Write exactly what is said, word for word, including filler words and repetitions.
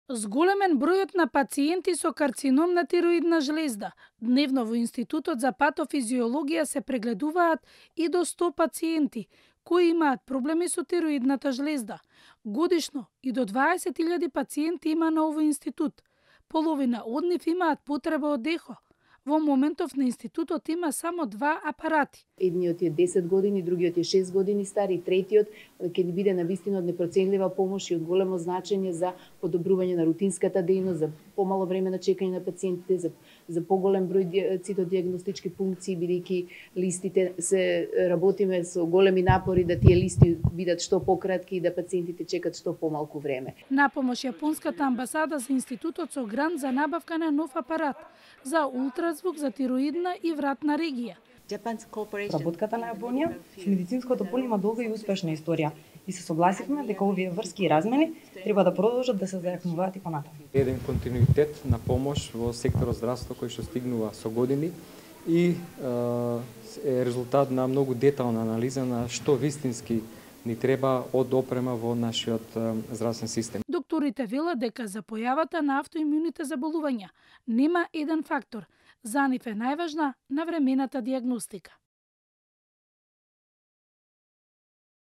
Зголемен бројот на пациенти со карцином на тироидна жлезда. Дневно во Институтот за патофизиологија се прегледуваат и до сто пациенти кои имаат проблеми со тироидната жлезда. Годишно и до дваесет илјади пациенти има на овој институт. Половина од нив имаат потреба од ехо. Во моментов на институтот има само два апарати. Едниот е десет години, другиот е шест години стар и третиот ќе ни биде навистина од непроценлива помош и од големо значење за подобрување на рутинската дејност, за помало време на чекање на пациентите, за, за поголем број цитодиагностички функции, бидејќи листите се работиме со големи напори да тие листи бидат што пократки и да пациентите чекат што помалку време. На помош јапонската амбасада за институтот со грант за набавка на нов апарат за ултразвук за тироидна и вратна регија. Работката на Јапонија со медицинското поле има долга и успешна историја и се согласивме дека овие врски и размени треба да продолжат да се зајакнуваат и понатаму. Еден континуитет на помош во секторот здравство кој што стигнува со години и е резултат на многу детална анализа на што вистински ни треба од опрема во нашиот здравствен систем. Докторите велат дека за појавата на автоимуните заболувања нема еден фактор. За нив е најважна навремената дијагностика.